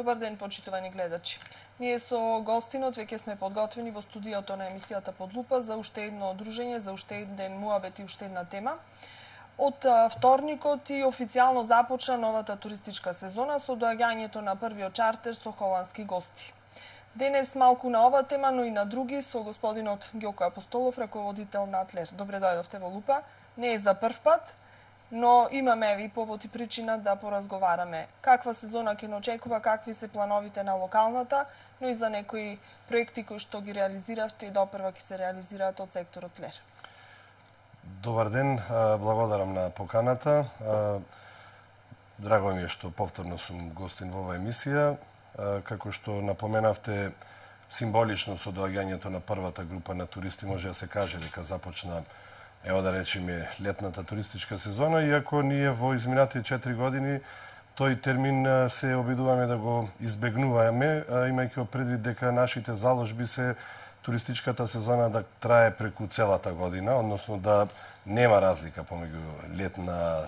Добар ден, почитувани гледачи. Ние со гостинот веќе сме подготвени во студиото на емисијата Под лупа за уште едно дружење, за уште еден муабет и уште една тема. Од вторникот и официјално започна новата туристичка сезона со доаѓањето на првиот чартер со холандски гости. Денес малку на ова тема, но и на други, со господинот Ѓоко Апостолов, раководител на Атлер. Добре дојдовте во Лупа. Не е за прв пат, но имаме и повод и причина да поразговараме. Каква сезона ќе не очекува, какви се плановите на локалната, но и за некои проекти кои што ги реализиравте и допрва ќе се реализираат од секторот Лер. Добар ден, благодарам на поканата. Драго ми е што повторно сум гостин во оваа емисија. Како што напоменавте, символично со доаѓањето на првата група на туристи може да се каже дека започна, ево да речеме, летната туристичка сезона, иако ние во изминатите 4 години тој термин се обидуваме да го избегнуваме, имајќи предвид дека нашите заложби се туристичката сезона да трае преку целата година, односно да нема разлика помеѓу летна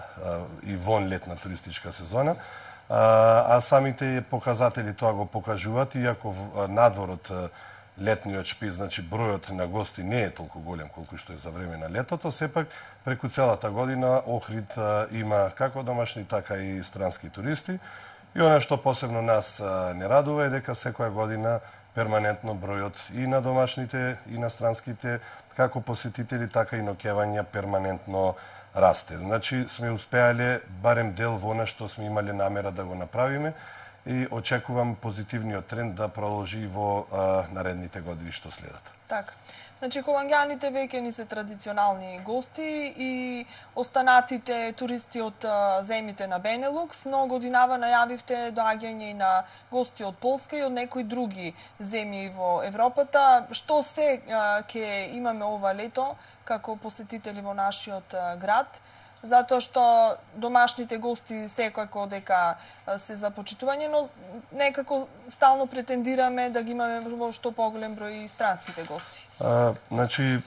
и вон летна туристичка сезона. А самите показатели тоа го покажуваат, иако надвор од летниот шпиц, значи бројот на гости не е толку голем колку што е за време на летото, сепак преку целата година Охрид има како домашни, така и странски туристи. И она што посебно нас не радува е дека секоја година перманентно бројот и на домашните и на странските како посетители, така и ноќевања перманентно расте. Значи сме успеале барем дел во она што сме имале намера да го направиме и очекувам позитивниот тренд да продолжи и во наредните години што следат. Така. Значи, холанѓаните веќе ни се традиционални гости и останатите туристи од земјите на Бенелукс, но годинава најавивте доаѓање и на гости од Полска и од некои други земји во Европата. Што се ќе имаме ова лето како посетители во нашиот град? Затоа што домашните гости секако дека се за почитување, но некако стално претендираме да ги имаме во што поголем број и странските гости. Значи,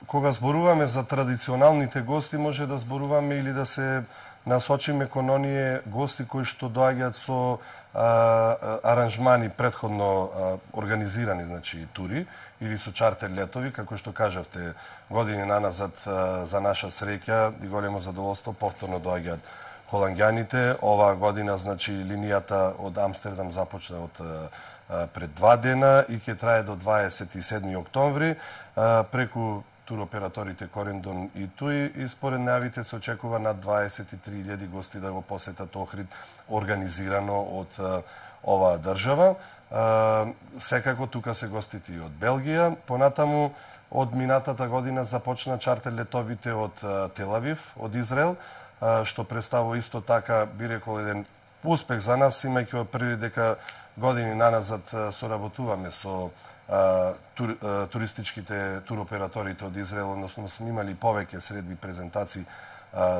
кога зборуваме за традиционалните гости, може да зборуваме или да се насочиме кон оние гости кои што доаѓаат со аранжмани претходно организирани, значи тури, или со чартер летови, како што кажавте, години наназад за наша среќа и големо задоволство повторно доаѓаат холанѓаните. Оваа година, значи, линијата од Амстердам започна од пред 2 дена и ќе трае до 27 октомври преку туроператорите Корендон и Туи, и според најавите се очекува над 23.000 гости да го посетат Охрид организирано од оваа држава. Секако тука се гостите и од Белгија. Понатаму од минатата година започна чартер летовите од Телавив, од Израел, што представува исто така, би рекол, еден успех за нас, имајќи први дека години наназад соработуваме со туристичките туроператорите од Израел, односно сме имали повеќе средби презентации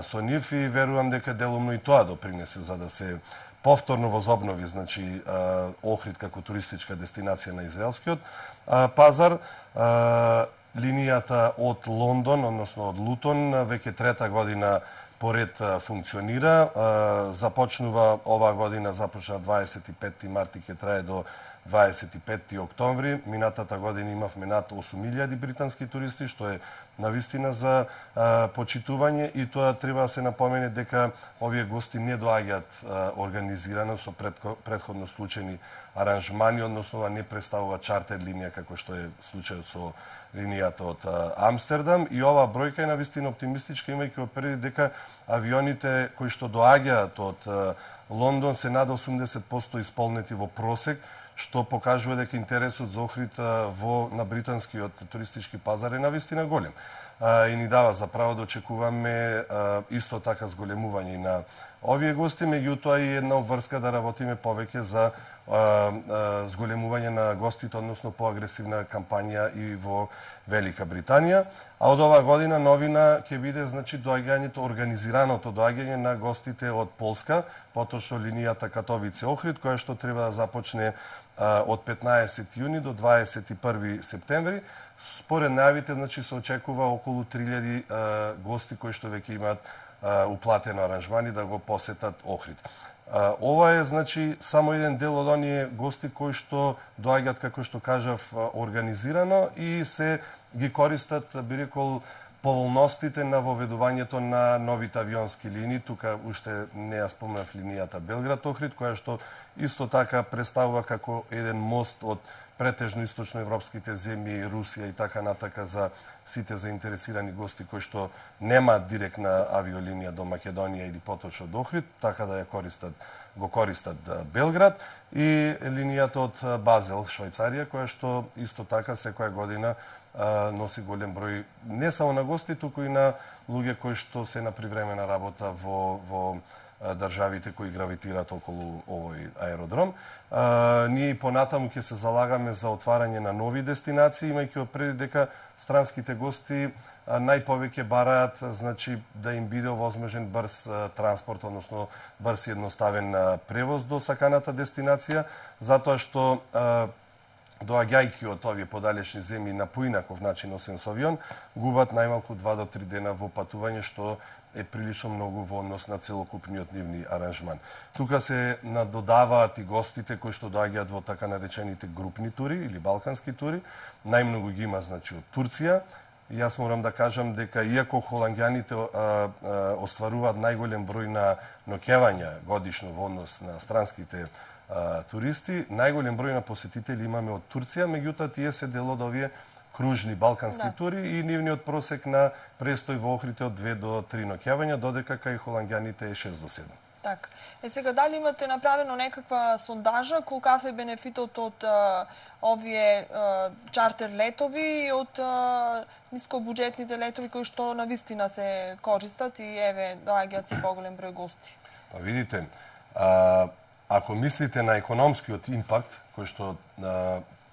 со нив и верувам дека делумно и тоа допринесе за да се повторно возобнови, значи, Охрид како туристичка дестинација на израелскиот пазар. Линијата од Лондон, односно од Лутон, веќе трета година поред функционира. Започнува оваа година, започна 25 март и ќе трае до 25 октомври. Минатата година имавме над 8.000 британски туристи, што е навистина за почитување, и тоа треба да се напомене дека овие гости не доаѓаат организирано со претходно случајни аранжмани, односно не представува чартер линија како што е случајот со линијата од Амстердам, и оваа бројка е навистина оптимистичка, имајќи предвид дека авионите кои што доаѓаат од Лондон се над 80% исполнети во просек, што покажува дека интересот за Охрид на британскиот туристички пазар е навистина голем. И ни дава за право да очекуваме исто така зголемување на овие гости, меѓутоа и една обврска да работиме повеќе за зголемување на гостите, односно поагресивна кампања и во Велика Британија. А од оваа година новина ќе биде, значи, доаѓањето, организираното доаѓање на гостите од Полска, поточно линијата Катовице-Охрид, која што треба да започне од 15 јуни до 21 септември. Според најавите, значи, се очекува околу 3000 гости кои што веќе имаат уплатено аранжмани да го посетат Охрид. Ова е, значи, само еден дел од оние гости кои што доаѓаат, како што кажав, организирано и се ги користат, би рекол, поволностите на воведувањето на новите авионски линии. Тука уште не ја спомнав линијата Белград-Охрид, која што исто така представува како еден мост од претежно источноевропските земји, Русија и така натака за сите заинтересирани гости кои што немаат директна авиолинија до Македонија или поточно до Охрид, така да ја го користат Белград, и линијата од Базел, Швајцарија, која што исто така секоја година носи голем број не само на гости, туку и на луѓе кои што се на привремена работа во државите кои гравитираат околу овој аеродром. Ние и понатаму ќе се залагаме за отварање на нови дестинации, имајќи пред дека странските гости најповеќе бараат, значи, да им биде овозможен брз транспорт, односно брз и едноставен превоз до саканата дестинација, затоа што доаѓајќи од овие подалечни земји на поинаков начин, освен со авион, губат најмалку 2 до 3 дена во патување, што е прилично многу во однос на целокупниот нивни аранжман. Тука се надодаваат и гостите кои што доаѓаат во така наречените групни тури или балкански тури. Најмногу ги има, значи, од Турција. Јас морам да кажам дека иако холанѓаните остваруваат најголем број на ноќевања годишно во однос на странските туристи, најголем број на посетители имаме од Турција, меѓутоа тие се дел од овие кружни балкански тури и нивниот просек на престој во Охрид е од 2 до 3 ноќевања, додека кај холанѓаните е 6 до 7. Така. Сега, дали имате направено некаква сондажа, колкав е бенефитот од овие чартер летови и од нискобуџетните летови кои што навистина се користат и еве доаѓаат се поголем број гости? Па видите, ако мислите на економскиот импакт, кој што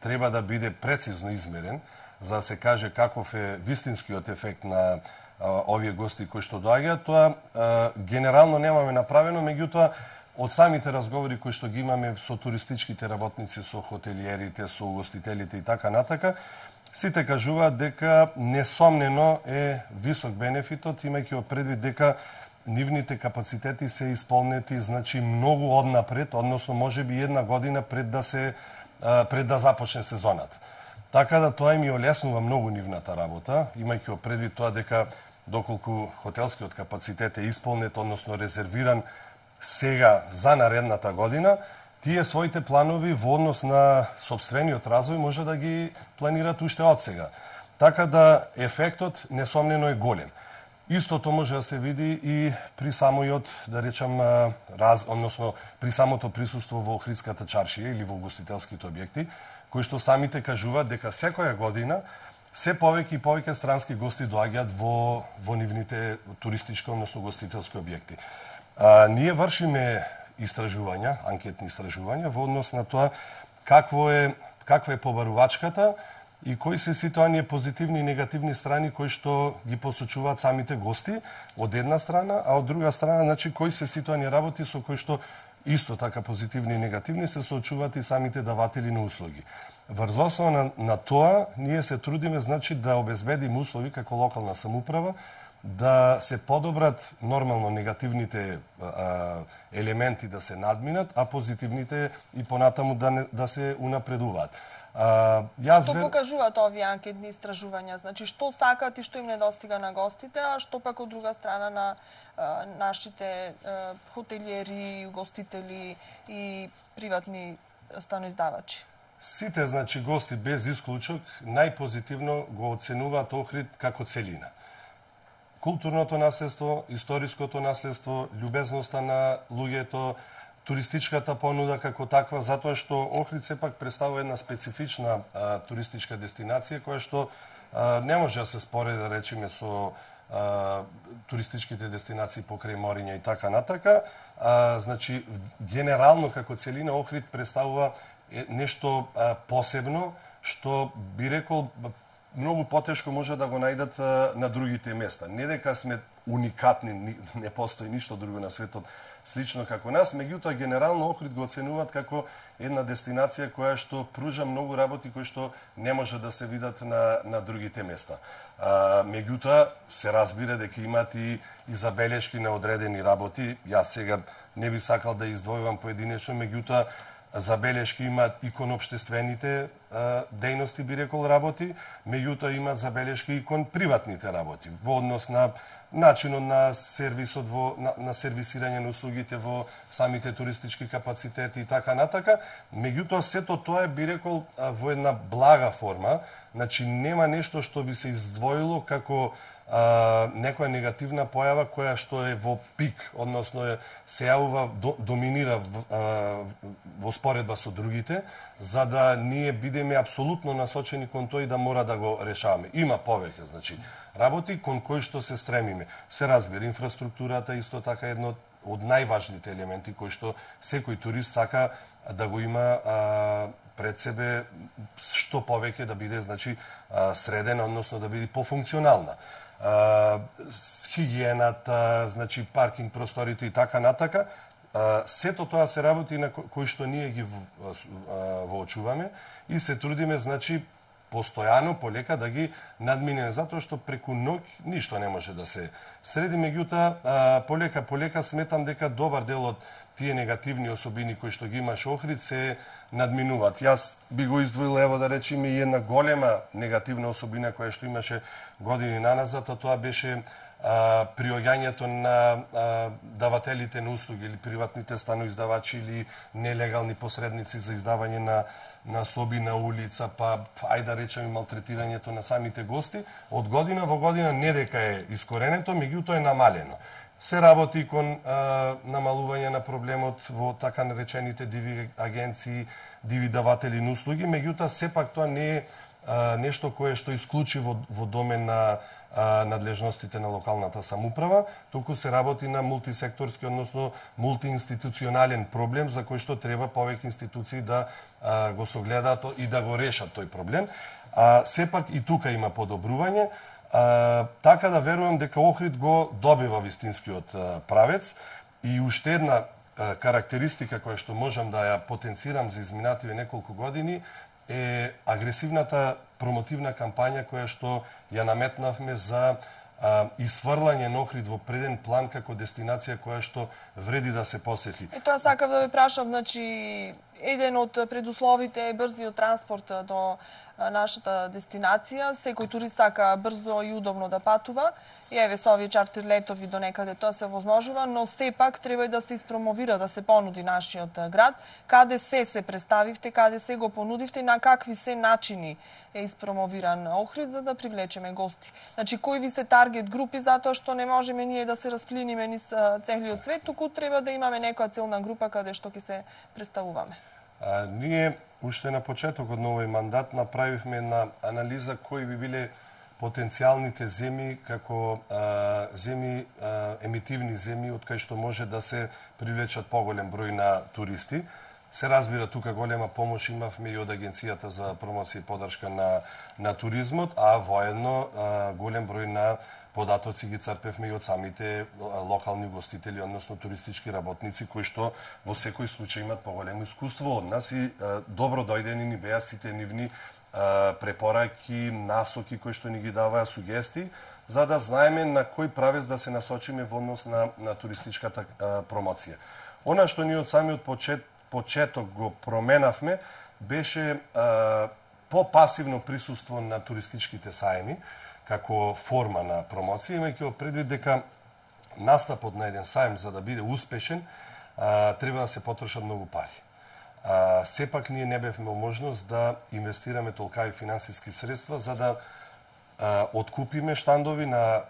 треба да биде прецизно измерен, за да се каже каков е вистинскиот ефект на овие гости кои што доаѓаат, тоа генерално немаме направено, меѓутоа од самите разговори кои што ги имаме со туристичките работници, со хотелиерите, со угостителите и така натака, сите кажуваат дека несомнено е висок бенефитот, имајќи предвид дека нивните капацитети се исполнети, значи, многу однапред, односно можеби една година пред да започне сезоната. Така да тоа им ја олеснува многу нивната работа, имајќи предвид тоа дека доколку хотелскиот капацитет е исполнет, односно резервиран сега за наредната година, тие своите планови во однос на сопствениот развој може да ги планират уште од сега. Така да ефектот несомнено е голем. Истото може да се види и при самојот, да речам, односно при самото присуство во Охридската чаршија или во угостителските објекти, кои што самите кажуваат дека секоја година се повеќе и повеќе странски гости доаѓаат во нивните туристички, односно угостителски објекти. Ние вршиме истражувања, анкетни истражувања во однос на тоа каква е побарувачката и кои се сите оние позитивни и негативни страни кои што ги посочуваат самите гости од една страна, а од друга страна, значи, кои се сите оние работи со кои што исто така позитивни и негативни се соочуваат и самите даватели на услуги. Врз основа на тоа, ние се трудиме, значи, да обезбедиме услови како локална самоуправа, да се подобрат нормално негативните елементи да се надминат, а позитивните и понатаму да се унапредуваат. Што покажуваат овие анкетни истражувања? Значи, што сакаат и што им недостига на гостите, а што пак од друга страна на нашите хотелиери, угостители и приватни станоиздавачи? Сите, значи, гости без исклучок најпозитивно го оценуваат Охрид како целина. Културното наследство, историското наследство, љубезноста на луѓето, туристичката понуда како таква, затоа што Охрид сепак представува една специфична туристичка дестинација која што не може да се спореди, да речеме, со туристичките дестинации покрај мориња и така натака. Значи, генерално како целина Охрид представува нешто посебно, што би рекол многу потешко може да го најдат на другите места. Не дека сме уникатни, не постои ништо друго на светот слично како нас, меѓутоа генерално Охрид го оценуваат како една дестинација која што пружа многу работи кои што не може да се видат на другите места. Меѓутоа се разбира дека имаат и забелешки на одредени работи. Јас сега не би сакал да издвојувам поединечно, меѓутоа забелешки имаат и кон обштествените дејности, би рекол, работи, меѓутоа имаат забелешки и кон приватните работи во однос на начинот на сервисот на сервисирање на услугите во самите туристички капацитети и така натака. Меѓутоа сето тоа е, би рекол, во една блага форма, значи нема нешто што би се издвоило како некоја негативна појава која што е во пик, односно се јавува, доминира во споредба со другите, за да ние бидеме апсолутно насочени кон тој да мора да го решаваме. Има повеќе, значи, работи кон кои што се стремиме. Се разбира, инфраструктурата исто така едно од најважните елементи кои што секој турист сака да го има пред себе што повеќе да биде, значи, средена, односно да биде пофункционална. Хигиената, значи паркинг просторите и така натака, сето тоа се работи на кои што ние ги воочуваме и се трудиме, значи, постојано, полека да ги надминеме, затоа што преку ноќ ништо не може да се среди, меѓутоа полека сметам дека добар дел од тие негативни особини кои што ги имаш Охрид се надминуваат. Јас би го издвоил, ево да речеме, и една голема негативна особина која што имаше години наназад, а тоа беше приоѓањето на давателите на услуги или приватните станоиздавачи или нелегални посредници за издавање на соби на улица, па ајде да речеме малтретирањето на самите гости. Од година во година не дека е искоренето, меѓутоа е намалено. Се работи кон намалување на проблемот во така наречените диви агенции, диви даватели на услуги, меѓутоа сепак тоа не е нешто кое што исклучи во домен на надлежностите на локалната самоуправа, туку се работи на мултисекторски, односно мултиинституционален проблем за кој што треба повеќе институции да го согледаат и да го решат тој проблем. Сепак и тука има подобрување, така да верувам дека Охрид го добива вистинскиот правец и уште една карактеристика која што можам да ја потенцирам за изминативе неколку години е агресивната промотивна кампања која што ја наметнавме за исфрлање на Охрид во преден план како дестинација која што вреди да се посети. Тоа сакав да ве прашам, значи еден од предусловите е брзиот транспорт до нашата дестинација. Секој турист сака брзо и удобно да патува. И еве со овие чартер летови до некаде тоа се возможува, но сепак треба и да се испромовира, да се понуди нашиот град. Каде се представивте, каде се го понудивте, на какви се начини е испромовиран Охрид за да привлечеме гости. Значи кои ви се таргет групи, затоа што не можеме ние да се расплиниме низ целиот свет, туку треба да имаме некоја целна група каде што ќе се представуваме. Ние уште на почетокот на овој мандат направивме една анализа кои би биле потенцијалните земји како емитивни земји од кај што може да се привлечат поголем број на туристи. Се разбира, тука голема помош имавме и од Агенцијата за промоција и поддршка на туризмот, а воедно голем број на податоци ги црпевме и од самите локални гостители, односно туристички работници, кои што во секој случај имат поголемо искуство од нас и добро дојдени ни беа сите нивни препораки, насоки кои што ни ги даваа сугестии, за да знаеме на кој правец да се насочиме во однос на туристичката промоција. Она што ние од самиот почеток го променавме беше попасивно присуство на туристичките саеми како форма на промоција, имајќи во предвид дека настапот на еден саем за да биде успешен треба да се потрошат многу пари. Сепак ние не бевме можност да инвестираме толкави финансиски средства за да откупиме штандови на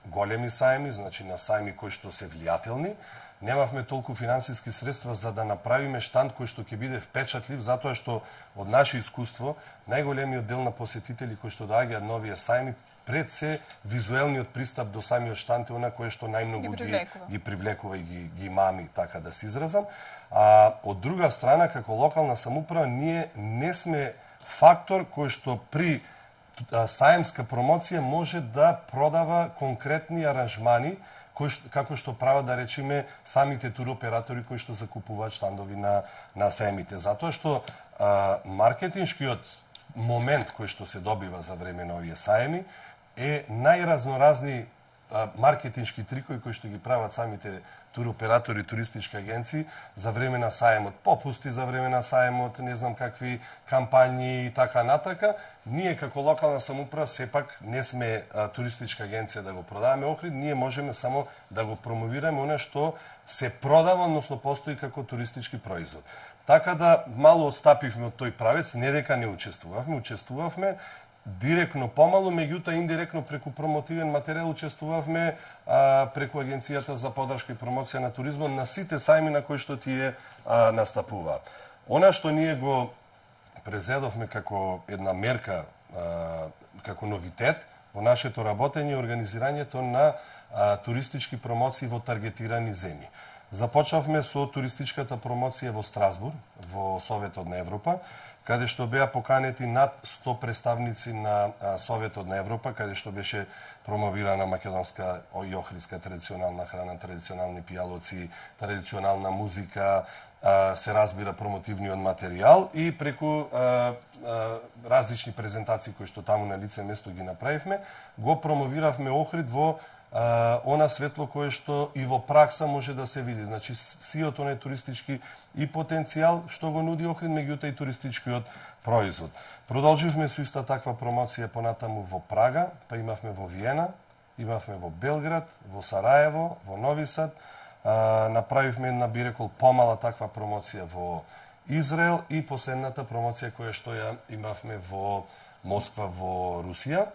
големи саеми, значи на саеми кои што се влијателни. Немавме толку финансиски средства за да направиме штанд кој што ќе биде впечатлив, затоа што од наше искуство најголемиот дел на посетители кои што доаѓаат на овие саеми пред се визуелниот пристап до самиот штанд е она кој што најмногу ги привлекува и ги мами, така да се изразам. А од друга страна, како локална самоуправа, ние не сме фактор кој што при саемска промоција може да продава конкретни аранжмани како што прават, да речеме, самите туроператори кои што закупуваат штандови на саемите. Затоа што маркетиншкиот момент кој што се добива за време на овие саеми е најразноразни маркетиншки трикови кои што ги прават самите туроператори, туристички агенции за време на саемот, попусти за време на саемот, не знам какви кампањи и така натака. Ние како локална самоуправа сепак не сме туристичка агенција да го продаваме Охрид, ние можеме само да го промовираме она што се продава, односно постои како туристички производ. Така да мало отстапивме од тој правец, не дека не учествувавме директно помалу, меѓутоа индиректно преку промотивен материјал учествувавме преку Агенцијата за поддршка и промоција на туризмот на сите сајми на кои што тие настапуваат. Она што ние го презедовме како една мерка, како новитет во нашето работење и организирањето на туристички промоции во таргетирани земји. Започнавме со туристичката промоција во Страсбург, во Советот на Европа, каде што беа поканети над 100 представници на Советот на Европа, каде што беше промовирана македонска и охридска традиционална храна, традиционални пијалоци, традиционална музика, се разбира промотивниот материјал и преку различни презентации кои што таму на лице место ги направивме, го промовиравме Охрид во она светло кое што и во пракса може да се види. Значи, сиот оној туристички и потенцијал што го нуди Охрид, меѓутоа и туристичкиот производ. Продолживме со иста таква промоција понатаму во Прага, па имавме во Виена, имавме во Белград, во Сараево, во Нови Сад, направивме една, би рекол, помала таква промоција во Израел и последната промоција која што ја имавме во Москва, во Русија.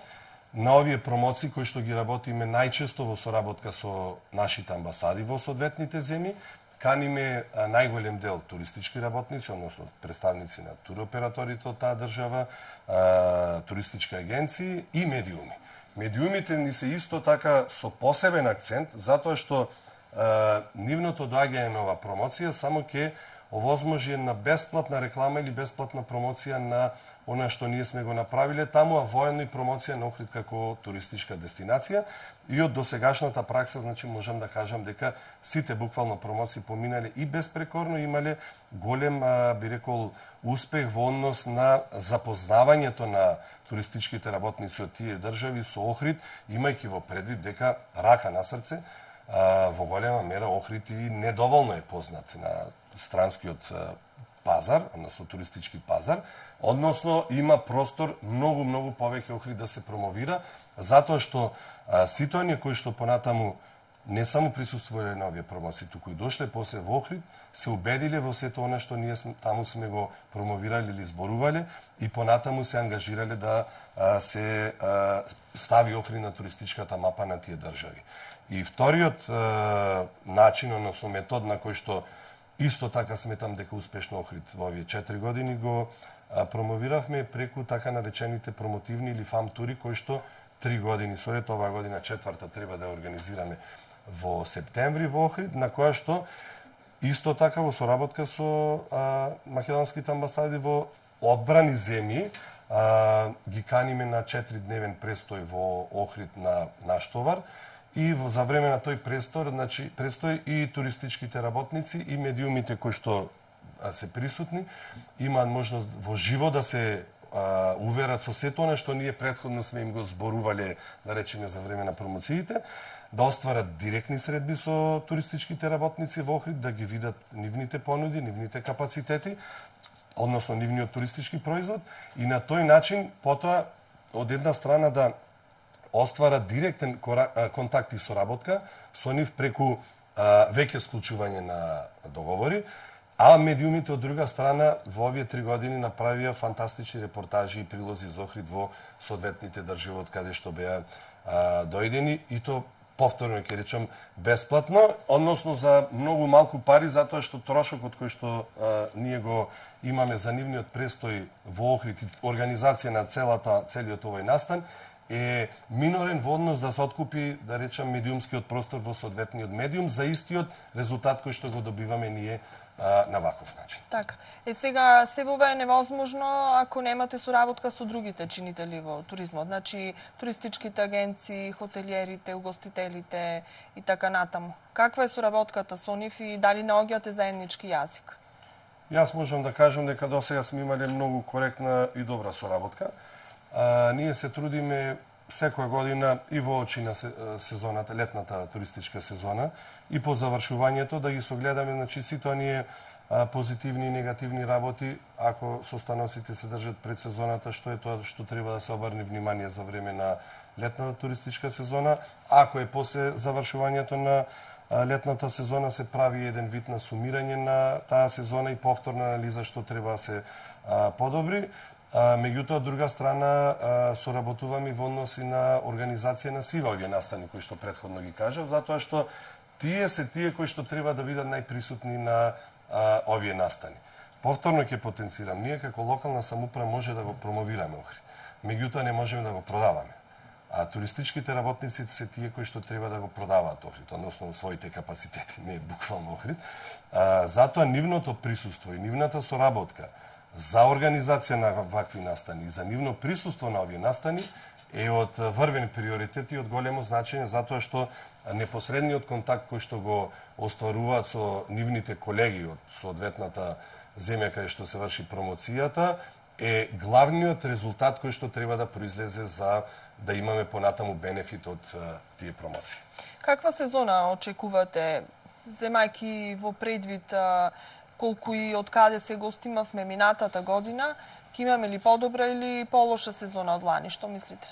На овие промоции кои што ги работиме најчесто во соработка со нашите амбасади во соодветните земји, каниме најголем дел туристички работници, односно представници на туроператорите од таа држава, туристички агенции и медиуми. Медиумите ни се исто така со посебен акцент, затоа што нивното доаѓање на ова промоција само ќе овозможи една бесплатна реклама или бесплатна промоција на она што ние сме го направиле таму, а воедно и промоција на Охрид како туристичка дестинација. И од досегашната пракса, значи, можам да кажам дека сите буквално промоции поминале и безпрекорно, имале голем, би рекол, успех во однос на запознавањето на туристичките работници од тие држави со Охрид, имајќи во предвид дека, рака на срце, во голема мера Охрид и недоволно е познат на странскиот пазар, односно туристички пазар, односно има простор многу повеќе Охрид да се промовира, затоа што сите оние кои што понатаму не само присуствувале на овие промоции, туку и дошле после во Охрид, се убедиле во сето она што ние таму сме го промовирали или зборувале и понатаму се ангажирале да се стави Охрид на туристичката мапа на тие држави. И вториот начин, односно метод на кој што исто така сметам дека успешно Охрид во овие 4 години го промовиравме преку така наречените промотивни или фам тури, кои што 3 години соред, оваа година 4-та треба да ја организираме во септември во Охрид, на која што исто така во соработка со македонските амбасади во одбрани земји ги каниме на 4-дневен престој во Охрид на наш товар. И за време на тој престој и туристичките работници и медиумите кои што се присутни имаат можност во живо да се уверат со сето она што ние претходно сме им го зборувале, да речеме, за време на промоциите, да остварат директни средби со туристичките работници во Охрид, да ги видат нивните понуди, нивните капацитети, односно нивниот туристички производ и на тој начин потоа од една страна да оствара директен контакт и соработка со нив преку веќе склучување на договори, а медиумите од друга страна во овие 3 години направија фантастични репортажи и прилози за Охрид во соодветните држави од каде што беа дојдени и то повторно ќе речам бесплатно, односно за многу малку пари, затоа што трошокот кој што ние го имаме за нивниот престој во Охрид и организација на целиот овој настан е минорен во однос да се откупи, да речам, медиумскиот простор во соодветниот медиум за истиот резултат кој што го добиваме ние на ваков начин. Така. Сега себове е невозможно ако немате соработка со другите чинители во туризмот, значи туристичките агенции, хотелиерите, угостителите и така натаму. Каква е соработката со нив и дали наоѓате заеднички јазик? Јас можам да кажам дека досега сме имале многу коректна и добра соработка. Ние се трудиме секоја година и во очи на сезоната, летната туристичка сезона и по завршувањето да ги согледаме, значи сите оние позитивни и негативни работи, ако состаноците се држат пред сезоната, што е тоа што треба да се обрне внимание за време на летната туристичка сезона, ако е после завршувањето на летната сезона се прави еден вид на сумирање на таа сезона и повторна анализа што треба да се подобри. Меѓутоа, од друга страна, соработуваме во односи на организација на сива овие настани, кои што претходно ги кажав, затоа што тие се тие кои што треба да бидат најприсутни на овие настани. Повторно ќе потенцирам, ние како локална самоуправа може да го промовираме Охрид, меѓутоа не можеме да го продаваме. А туристичките работници се тие кои што треба да го продаваат Охрид, односно своите капацитети, не буквално Охрид. Затоа нивното присуство и нивната соработка за организација на вакви настани и за нивно присуство на овие настани е од врвен приоритет и од големо значење, затоа што непосредниот контакт кој што го остваруваат со нивните колеги од соодветната земја каде што се врши промоцијата е главниот резултат кој што треба да произлезе за да имаме понатаму бенефит од тие промоции. Каква сезона очекувате, земајки во предвид колку и од каде се гостимавме минатата година, ќе имаме ли подобра или полоша сезона од лани? Што мислите?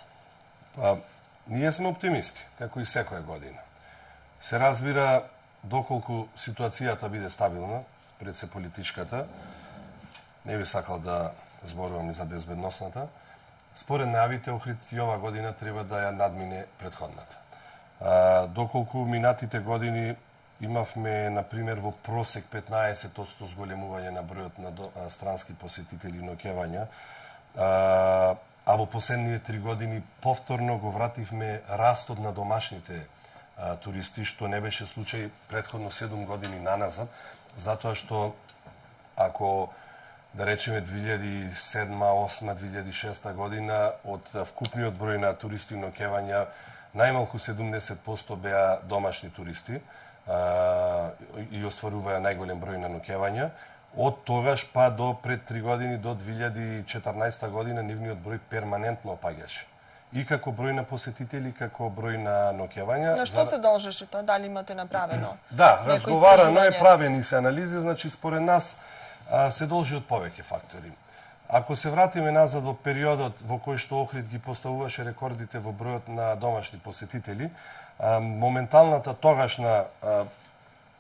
Ние сме оптимисти, како и секоја година. Се разбира, доколку ситуацијата биде стабилна, пред се политичката, не би сакал да зборувам и за безбедносната, според најавите Охрид и ова година треба да ја надмине претходната. Доколку минатите години имавме, например, во просек 15% зголемување на бројот на странски посетители и ноќевања, а во последните 3 години повторно го вративме растот на домашните туристи, што не беше случај претходно 7 години наназад, затоа што ако да речеме 2007, 2008, 2006 година од вкупниот број на туристи и ноќевања најмалку 70% беа домашни туристи и остваруваа најголем број на ноќевања. Од тогаш па до пред 3 години, до 2014 година, нивниот број перманентно опаѓаше. И како број на посетители, како број на ноќевања. На што се должеше тоа? Дали имате направено? Да, разговарано е, правени се анализи, значи според нас се должи од повеќе фактори. Ако се вратиме назад во периодот во кој што Охрид ги поставуваше рекордите во бројот на домашни посетители, моменталната тогашна,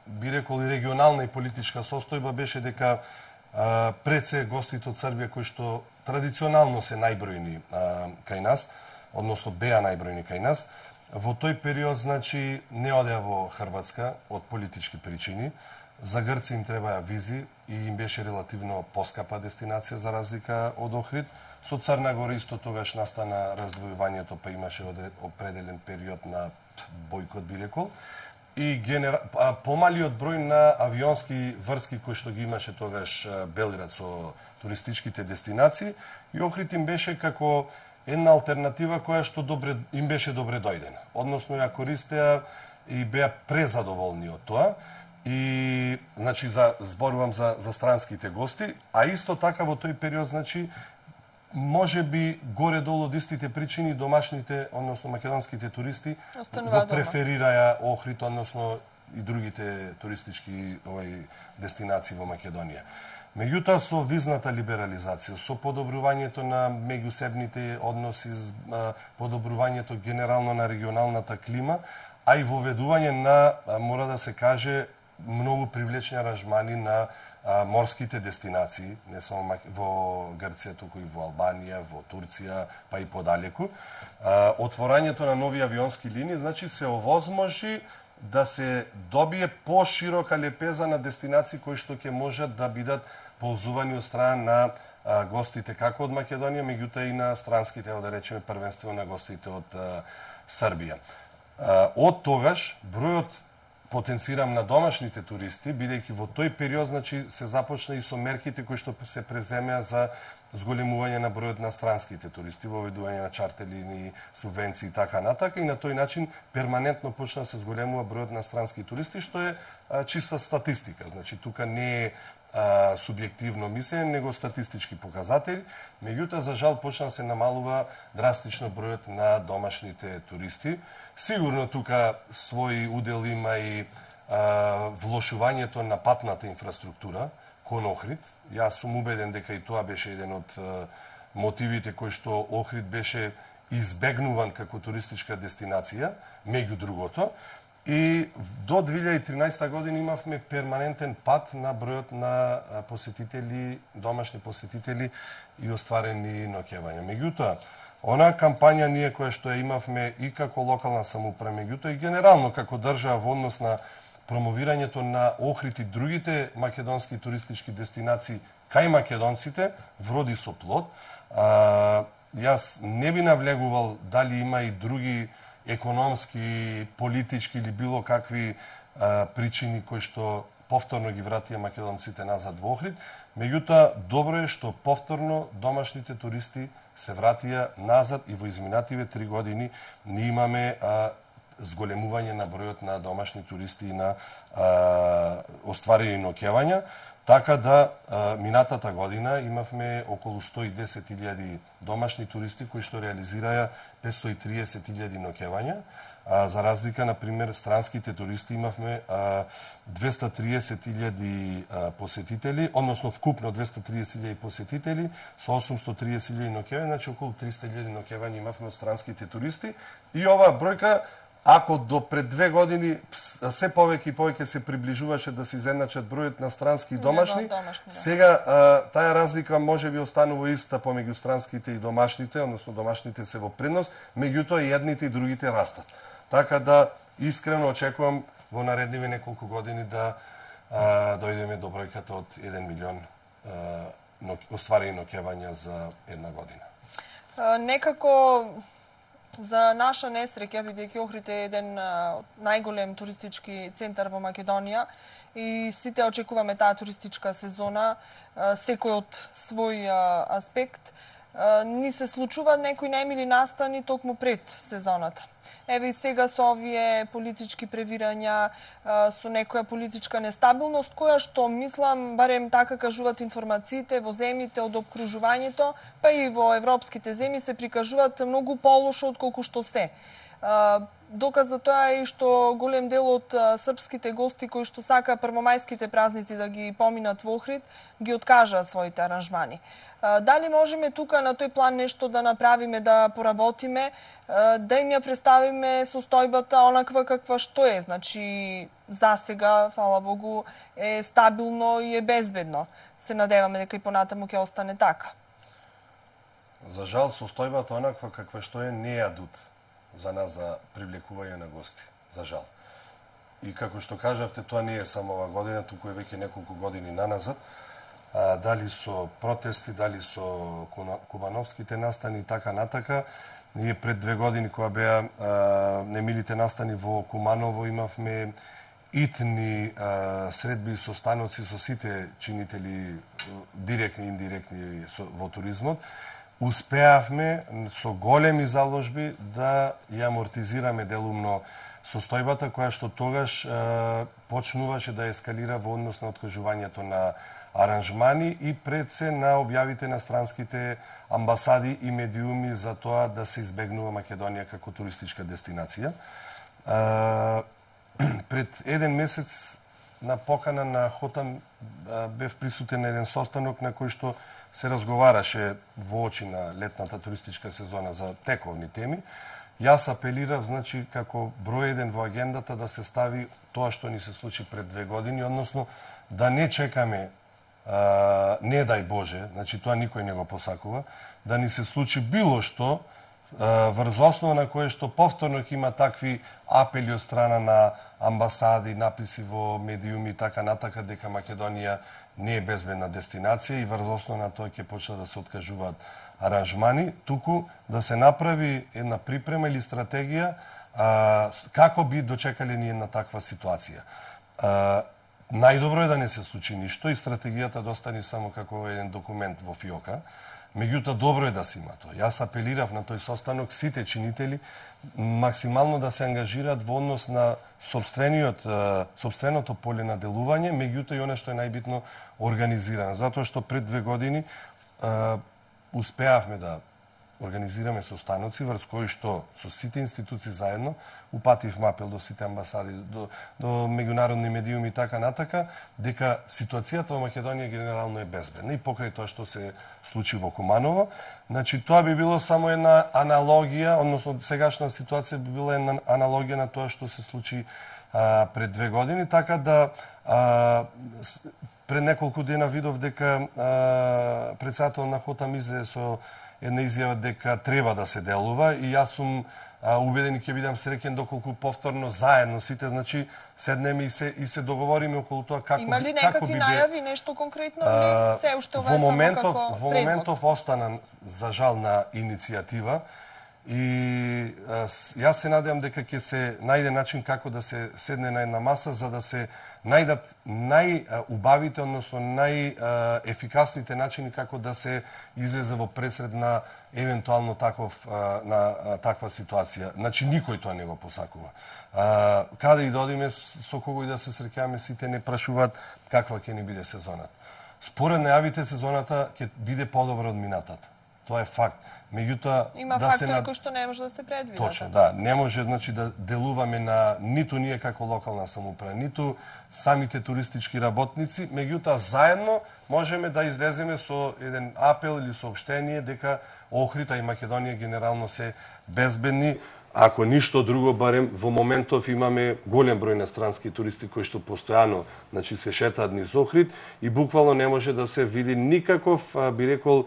би рекол и регионална и политичка состојба беше дека пред се гостите од Србија кои што традиционално се најбројни кај нас, односно беа најбројни кај нас, во тој период значи не одеа во Хрватска од политички причини. За грци им требаа визи и им беше релативно поскапа дестинација за разлика од Охрид. Со Црна Гора исто тогаш настана раздвојувањето, па имаше определен период на бојкот, би рекол. И помалиот број на авионски врски кои што ги имаше тогаш Белград со туристичките дестинации, и Охрид им беше како една алтернатива која што им беше добре дојдена. Односно ја користеа и беа презадоволни од тоа. И, значи, зборувам за странските гости, а исто така во тој период, значи, може би горе-долу од истите причини домашните, односно македонските туристи го преферираја Охрид, односно и другите туристички дестинации во Македонија. Меѓутоа, со визната либерализација, со подобрувањето на меѓусебните односи, подобрувањето генерално на регионалната клима, а и воведување на, мора да се каже, многу привлечни аранжмани на морските дестинации, не само во Грција, туку и во Албанија, во Турција, па и подалеку. Отворањето на нови авионски линии, значи се овозможи да се добие поширока лепеза на дестинации кои што ќе можат да бидат ползувани од страна на гостите како од Македонија, меѓутоа и на странските, да речеме првенствено на гостите од Србија. Од тогаш бројот потенцирам на домашните туристи, бидејќи во тој период значи се започна и со мерките кои што се преземеа за зголемување на бројот на странските туристи, воведување на чартерлини, субвенции и така натака, и на тој начин перманентно почна да се зголемува бројот на странски туристи, што е чиста статистика. Значи тука не е субјективно мислење, него статистички показатели. Меѓутоа, за жал, почна да се намалува драстично бројот на домашните туристи. Сигурно тука свој удел има и влошувањето на патната инфраструктура кон Охрид. Јас сум убеден дека и тоа беше еден од мотивите кои што Охрид беше избегнуван како туристичка дестинација, меѓу другото. И до 2013 година имавме перманентен пат на бројот на посетители, домашни посетители и остварени ноќевања. Меѓутоа, онаа кампања ние која што ја имавме и како локална самоуправа, меѓутоа и генерално како држава во однос на промовирањето на Охрид и другите македонски туристички дестинации кај македонците, вроди со плод. Јас не би навлегувал дали има и други економски, политички или било какви причини кои што повторно ги вратија македонците назад во Охрид. Меѓутоа, добро е што повторно домашните туристи се вратија назад и во изминативе 3 години ние имаме зголемување на бројот на домашни туристи и на остварени ноќевања. Така да, минатата година имавме околу 110.000 домашни туристи кои што реализираја 530.000 ноќевања. За разлика, например, странските туристи имавме 230.000 посетители, односно вкупно 230.000 посетители со 830.000 ноќевања, значи околу 300.000 ноќевања имавме од странските туристи. И оваа бројка, ако до пред 2 години се повеќе и повеќе се приближуваше да се изедначат бројот на странски и домашни, сега таа разлика може би останува иста помеѓу странските и домашните, односно домашните се во предност, меѓутоа и едните и другите растат. Така да искрено очекувам во наредниве неколку години да дојдеме до бројката од 1 милион остварени ноќевања за една година. Некако за наша несреќа, бидејќи Охрид е еден најголем туристички центар во Македонија и сите очекуваме таа туристичка сезона, секој од свој аспект, ни се случуваат некои најмили настани токму пред сезоната. Еве и сега со овие политички превирања, со некоја политичка нестабилност, која што, мислам, барем така кажуваат информациите во земјите од обкружувањето, па и во европските земји се прикажуваат многу полошо отколку што се. Доказ за тоа е и што голем дел од српските гости кои што сака првомајските празници да ги поминат во Охрид, ги откажаа своите аранжмани. Дали можеме тука на тој план нешто да направиме, да поработиме, да им ја представиме состојбата онаква каква што е? Значи, за сега, фала Богу, е стабилно и е безбедно. Се надеваме дека и понатаму ќе остане така. За жал, состојбата онаква каква што е не е адут за нас за привлекување на гости. За жал. И како што кажавте, тоа не е само ова година, туку е веќе неколку години наназад. Дали со протести, дали со кубановските настани и така натака. Ние пред 2 години, кога беа немилите настани во Куманово, имавме итни средби и состаноци со сите чинители, директни и индиректни во туризмот. Успеавме со големи заложби да ја амортизираме делумно состојбата, која што тогаш почнуваше да ескалира во однос на откажувањето на аранжмани и пред се на објавите на странските амбасади и медиуми за тоа да се избегнува Македонија како туристичка дестинација. Пред 1 месец на покана на Хотам бев присутен на еден состанок на кој што се разговараше во очи на летната туристичка сезона за тековни теми. Јас апелирав, значи, како број 1 во агендата да се стави тоа што ни се случи пред 2 години, односно да не чекаме, не дај Боже, значи тоа никој не го посакува, да ни се случи било што врз основа на кое што повторно ќе има такви апели од страна на амбасади, написи во медиуми и така натака дека Македонија не е безбедна дестинација и врз основа на тоа ќе почнат да се откажуваат аранжмани, туку да се направи една припрема или стратегија Како би дочекале ние на таква ситуација? Најдобро е да не се случи ништо и стратегијата да остане само како еден документ во фиока. Меѓутоа, добро е да се има тоа. Јас апелирав на тој состанок сите чинители максимално да се ангажираат во однос на сопственото поле на делување, меѓутоа и оно што е најбитно организирано. Затоа што пред 2 години успеавме да организираме состаноци врз кои што со сите институции заедно упативме апел до сите амбасади, до меѓународни медиуми и така натака, дека ситуацијата во Македонија генерално е безбедна и покрај тоа што се случи во Куманово. Значи, тоа би било само една аналогија, односно сегашна ситуација би била една аналогија на тоа што се случи пред 2 години, така да пред неколку дена видов дека председател на Хотам излезе со една изјава дека треба да се делува и јас сум убеден и ќе бидам среќен доколку повторно заедно сите, значи седнеме и се договориме околу тоа како има ли некакви најави, нешто конкретно или се уште ова само како предлог? Во моментов остана за жал на иницијатива и јас се надевам дека ќе се најде начин како да се седне на една маса за да се најдат најубавите, односно најефикасните начини како да се излезе во пресред на евентуално таква ситуација. Значи, никој тоа не го посакува. Каде и да одиме, со кого и да се среќаваме, сите не прашуваат каква ќе ни биде сезоната. Според најавите, сезоната ќе биде подобра од минатата. Тоа е факт. Меѓутоа, има фактори кои што не може да се предвидат. Точно, да. Не може, значи, да делуваме на ниту ние како локална самоуправа, ниту самите туристички работници, меѓутоа заедно можеме да излеземе со еден апел или соопштение дека Охрид и Македонија генерално се безбедни. Ако ништо друго, барем во моментов имаме голем број на странски туристи кои што постојано, значи, се шетаат низ Охрид и буквално не може да се види никаков, би рекол,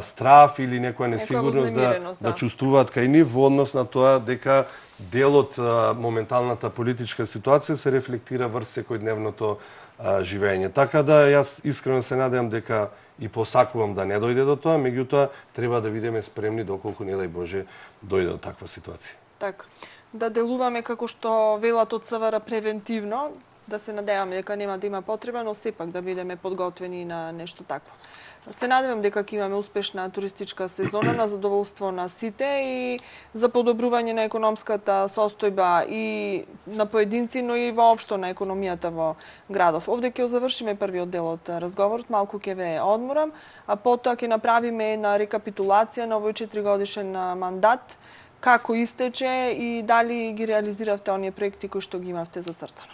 страф или некоја несигурност да чувствуваат кај нив во однос на тоа дека дел од моменталната политичка ситуација се рефлектира врз секојдневното живење. Така да јас искрено се надевам дека и посакувам да не дојде до тоа, меѓутоа треба да бидеме спремни доколку не дај Боже дојде до таква ситуација. Така, да делуваме како што велат од СВР превентивно, да се надеваме дека нема да има потреба, но сепак да бидеме подготвени на нешто такво. Се надевам дека ќе имаме успешна туристичка сезона на задоволство на сите и за подобрување на економската состојба и на поединци, но и воопшто на економијата во градов. Овде ќе завршиме првиот дел од разговорот, малку ќе ве одморам, а потоа ќе направиме една рекапитулација на овој 4-годишен мандат, како истече и дали ги реализиравте оние проекти кои што ги имавте зацртано.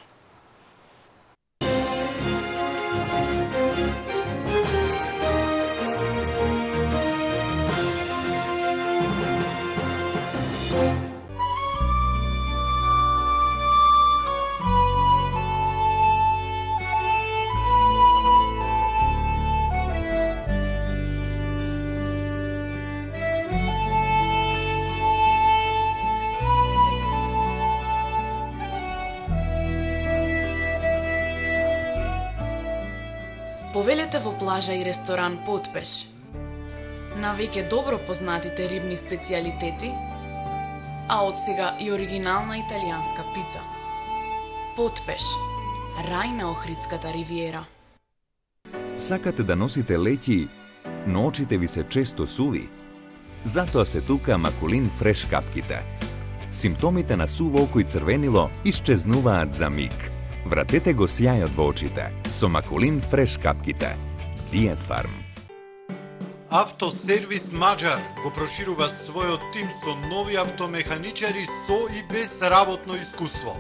Повелете во плажа и ресторан Потпеш. На веќе добро познатите рибни специјалитети, а од сега и оригинална италијанска пица. Потпеш, рај на Охридската ривиера. Сакате да носите леќи, но очите ви се често суви? Затоа се тука Макулин Фреш капките. Симптомите на суво око и црвенило исчезнуваат за миг. Вратете го сјајот во очите со Макулин Фреш капките. Диет Фарм. Автосервис Маџар го проширува својот тим со нови автомеханичари со и без работно искуство.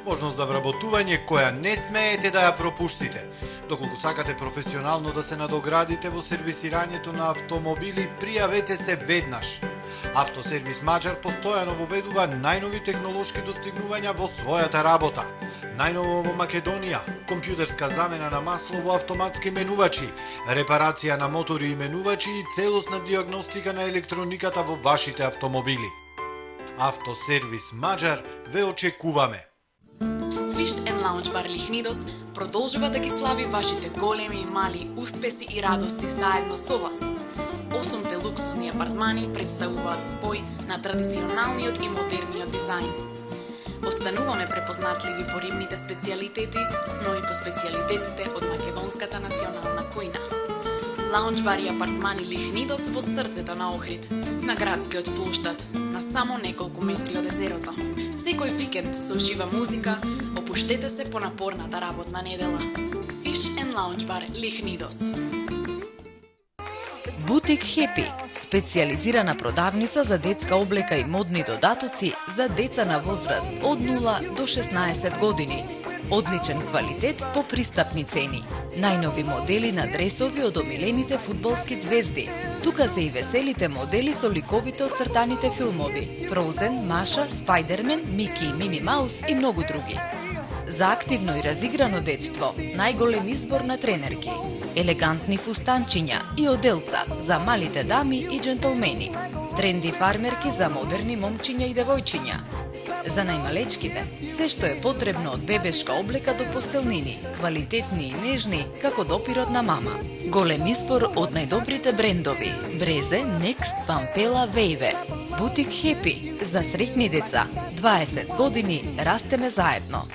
Можност за вработување која не смеете да ја пропуштите. Доколку сакате професионално да се надоградите во сервисирањето на автомобили, пријавете се веднаш. Автосервис Маџар постојано воведува најнови технолошки достигнувања во својата работа. Најново во Македонија, компјутерска замена на масло во автоматски менувачи, репарација на мотори и менувачи и целосна диагностика на електрониката во вашите автомобили. Автосервис Маџар ве очекуваме. Fish and Lounge Bar Лихнидос продолжува да ги слави вашите големи и мали успеси и радости заедно со вас. 8 луксузни апартмани представуваат спој на традиционалниот и модерниот дизајн. Остануваме препознатливи по рибните специјалитети, но и по специјалитетите од македонската национална кујна. Лаунџ бар и апартмани Лихнидос во срцето на Охрид, на градскиот плоштад, на само неколку метри од езерото. Секој викенд со жива музика, опуштете се по напорната работна недела. Fish and Lounge Bar Лихнидос. Бутик Хепи, специјализирана продавница за детска облека и модни додатоци за деца на возраст од 0 до 16 години. Одличен квалитет по пристапни цени. Најнови модели на дресови од омилените фудбалски звезди. Тука се и веселите модели со ликовите од цртаните филмови: Фроузен, Маша, Спајдермен, Мики и Мини Маус и многу други. За активно и разиграно детство, најголем избор на тренерки, елегантни фустанчиња и оделца за малите дами и джентълмени, тренди фармерки за модерни момчиња и девојчиња. За најмалечките, се што е потребно од бебешка облека до постелнини, квалитетни и нежни, како допирот на мама. Голем избор од најдобрите брендови: Брезе, Next, Пампела, Вејве. Бутик Хепи, за среќни деца. 20 години растеме заедно.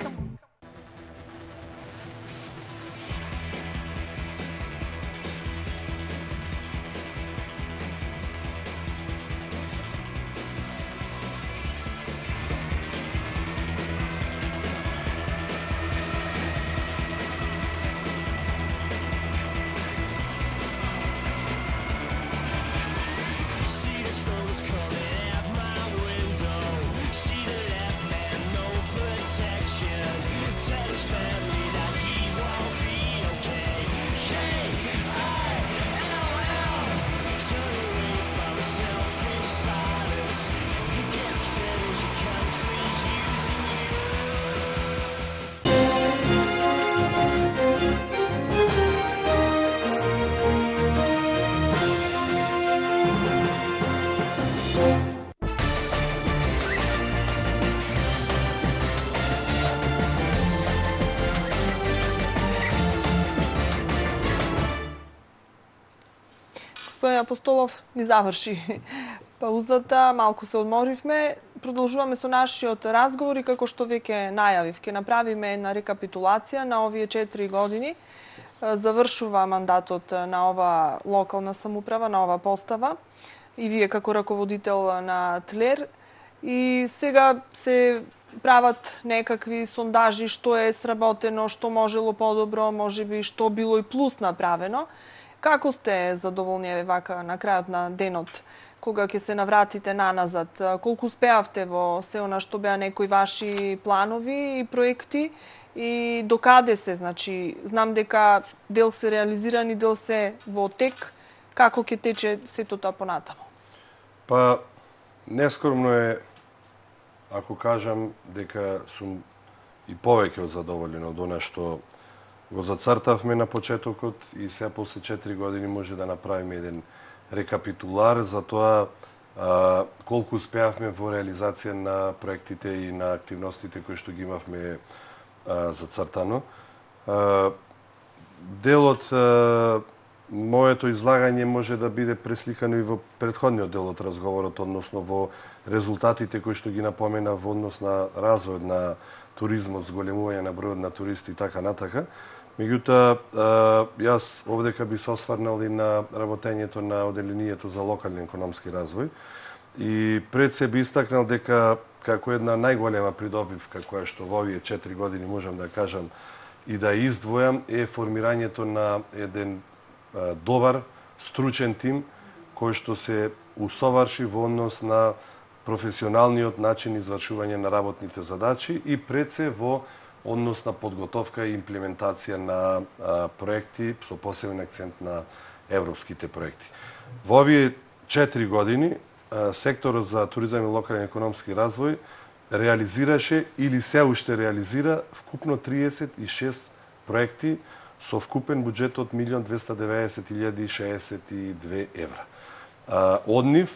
Господин Апостолов ни заврши паузата, малку се одморивме. Продолжуваме со нашиот разговор и како што веќе најавив, ќе направиме една рекапитулација на овие 4 години. Завршува мандатот на ова локална самоуправа, на ова постава и вие како раководител на ТЛЕР. И сега се прават некакви сондажи што е сработено, што можело подобро, можеби што било и плюс направено. Како сте задоволни вака на крајот на денот, кога ќе се навратите наназад? Колку успеавте во се она што беа некои ваши планови и проекти и докаде се? Значи, знам дека дел се реализирани, дел се во тек. Како ќе тече сето тоа понатаму? Па, нескромно е, ако кажам, дека сум и повеќе од задоволен од она што го зацртавме на почетокот и се после 4 години може да направиме еден рекапитулар за тоа колку успеавме во реализација на проектите и на активностите кои што ги имавме зацртано. Дел од моето излагање може да биде пресликано и во претходниот дел од разговорот, односно во резултатите кои што ги напомена во однос на развојот на туризмот, зголемување на бројот на туристи и така натака. Меѓутоа, јас овдека би се осврнал и на работењето на оделението за локален економски развој и пред се би истакнал дека како една најголема придобивка која што во овие 4 години можам да кажам и да издвојам е формирањето на еден добар, стручен тим кој што се усоварши во однос на професионалниот начин извршување на работните задачи и пред се во однос на подготовка и имплементација на проекти со посебен акцент на европските проекти. Во овие 4 години секторот за туризам и локален економски развој реализираше или се уште реализира вкупно 36 проекти со вкупен буџет од 1.290.062 евра. Од нив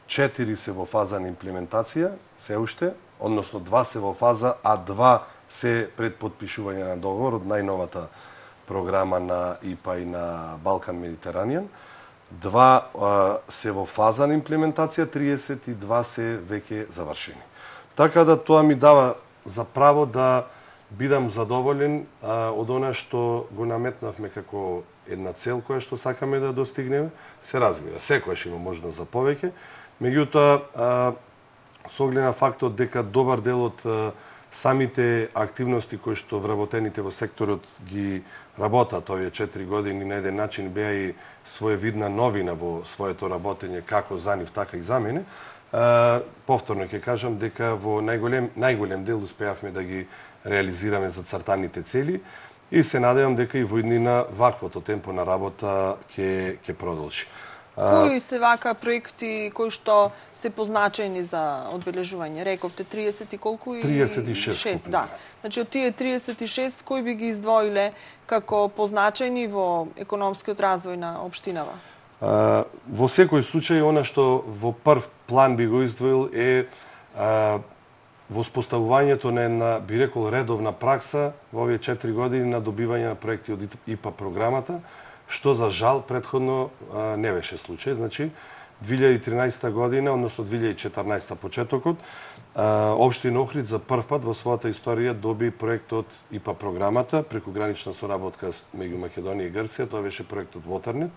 4 се во фаза на имплементација, се уште, односно 2 се во фаза, а 2 се пред подпишување на договор од најновата програма на ИПА и на Балкан Медитеранијан. 2 се во фаза на имплементација, 32 се веќе завршени. Така да тоа ми дава за право да бидам задоволен од она што го наметнавме како една цел која што сакаме да достигнеме. Се разбира, секојаш има можност за повеќе, меѓутоа со оглед на фактот дека добар дел од самите активности кои што вработените во секторот ги работат овие 4 години на еден начин беа и своевидна новина во своето работење како за нив, така и за мене. Повторно ќе кажам дека во најголем дел успеавме да ги реализираме зацртаните цели и се надевам дека и во иднина ваквото темпо на работа ќе продолжи. Кои се вака проекти кои што се позначени за одбележување? Рековте 30 и колку? 36. Да. Значи, од тие 36, кои би ги издвоиле како позначени во економскиот развој на општинава? Во секој случај, она што во прв план би го издвоил е воспоставувањето на една, би рекол, редовна пракса во овие 4 години на добивање на проекти од ИПА програмата, што за жал предходно не беше случај. Значи, 2013 година, односно 2014 почетокот, општина Охрид за прв пат во својата историја доби проект од ИПА програмата, прекогранична соработка меѓу Македонија и Грција. Тоа беше проектот Waternet,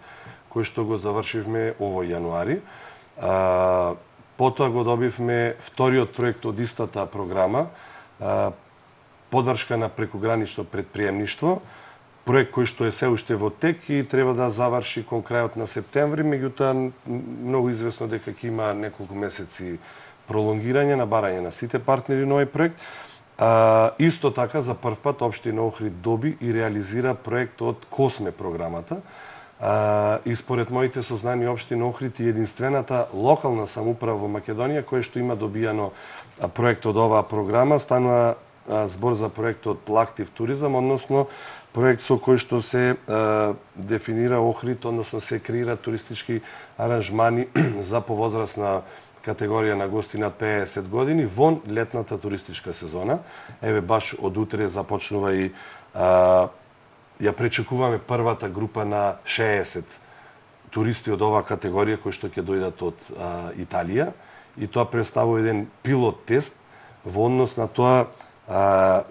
кој што го завршивме овој јануари. Потоа го добивме вториот проект од истата програма, поддршка на прекогранично предприемништво, проект кој што е се уште во тек и треба да заврши кон крајот на септември, меѓутоа многу известно дека ќе има неколку месеци пролонгирање на барање на сите партнери на овој проект. Исто така за прв пат општина Охрид доби и реализира проект од Косме програмата. И според моите сознани општина Охрид е единствената локална самоуправа во Македонија која што има добијано проект од оваа програма. Станува збор за проектот Лактив туризам, односно проект со кој што се дефинира Охрид, односно се креира туристички аранжмани за повозрастна категорија на гости над 50 години вон летната туристичка сезона. Еве баш од утре започнува и ја пречекуваме првата група на 60 туристи од оваа категорија кои што ќе дојдат од Италија и тоа представува еден пилот тест во однос на тоа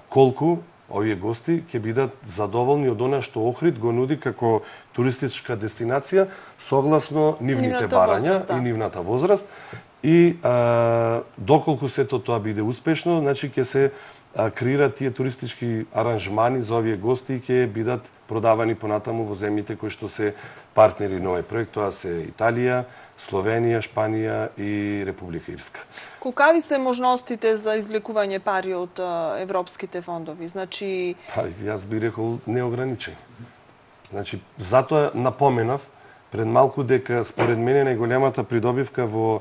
колку овие гости ќе бидат задоволни од она што Охрид го нуди како туристичка дестинација согласно нивните барања и нивната возраст. И доколку сето тоа биде успешно, значи ќе се креираат тие туристички аранжмани за овие гости и ќе бидат продавани понатаму во земјите кои што се партнери на овој проект. Тоа се Италија, Словенија, Шпанија и Република Ирска. Колкави се можностите за извлекување пари од европските фондови? Значи, јас би рекол неограничени. Значи, затоа напоменав пред малку дека според мене најголемата придобивка во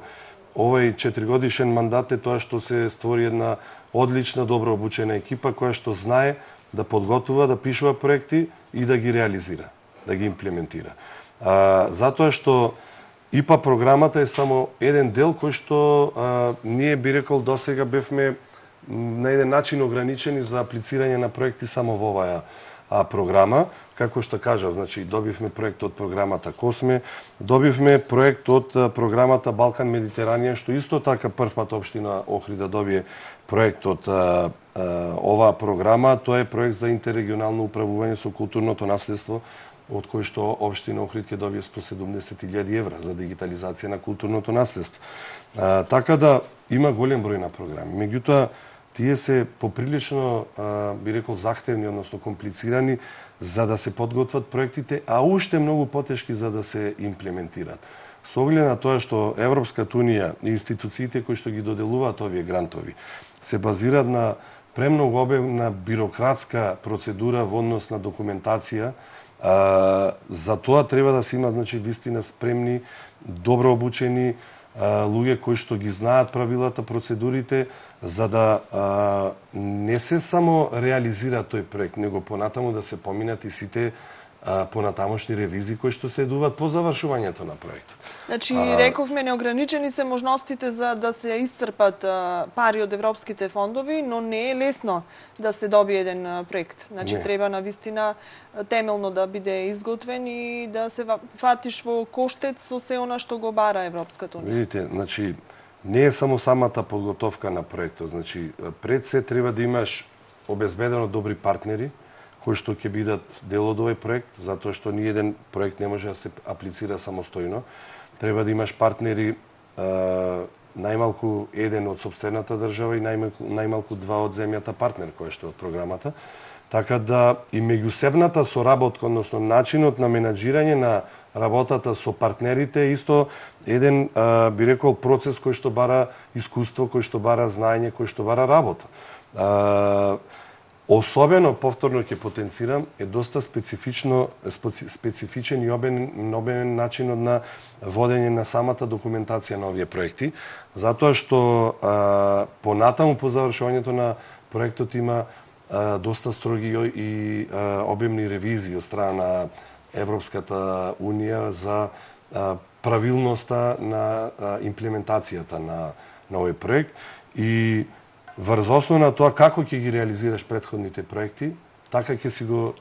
овој 4-годишен мандат е тоа што се створи една одлична, добро обучена екипа која што знае да подготвува, да пишува проекти и да ги реализира, да ги имплементира. Затоа што ИПА програмата е само еден дел кој што ние би рекол досега бевме на еден начин ограничени за аплицирање на проекти само во оваа програма. Како што кажав, значи добивме проект од програмата Косме, добивме проект од програмата Балкан Медитеранија, што исто така прв пат општина Охрид да добие проект од оваа програма. Тоа е проект за интеррегионално управување со културното наследство, од кој што општина Охрид ќе добие 170.000 евра за дигитализација на културното наследство. Така да има голем број на програми. Меѓутоа, тие се поприлично, би рекол, захтевни, односно комплицирани за да се подготват проектите, а уште многу потешки за да се имплементираат. Со оглед на тоа што Европската унија и институциите кои што ги доделуваат овие грантови се базираат на премногу обемна бирократска процедура во однос на документација, за тоа треба да се има, значи, вистина спремни, добро обучени луѓе кои што ги знаат правилата, процедурите, за да не се само реализира тој проект, него понатаму да се поминат и сите понатамошни ревизии кои што следуваат по завршувањето на проектот. Значи, рековме, неограничени се можностите за да се исцрпат пари од европските фондови, но не е лесно да се добие еден проект. Значи, треба навистина темелно да биде изготвен и да се фатиш во коштец со се она што го бара Европската унија. Видите, значи, не е само самата подготовка на проектот. Значи, пред се треба да имаш обезбедено добри партнери, кои што ќе бидат дел од овој проект, затоа што ни еден проект не може да се аплицира самостојно. Треба да имаш партнери, најмалку еден од сопствената држава и најмалку два од земјата партнер кој што од програмата. Така да и меѓусебната соработка, односно начинот на менаџирање на работата со партнерите е исто еден, би рекол, процес кој што бара искуство, кој што бара знаење, кој што бара работа. Особено, повторно ќе потенцирам, е доста специфичен и обемен начинот на водење на самата документација на овие проекти, затоа што понатаму по завршувањето на проектот има доста строги и обемни ревизии од страна на Европската унија за правилноста на имплементацијата на овој проект и врз основа на тоа како ќе ги реализираш претходните проекти, така ќе си го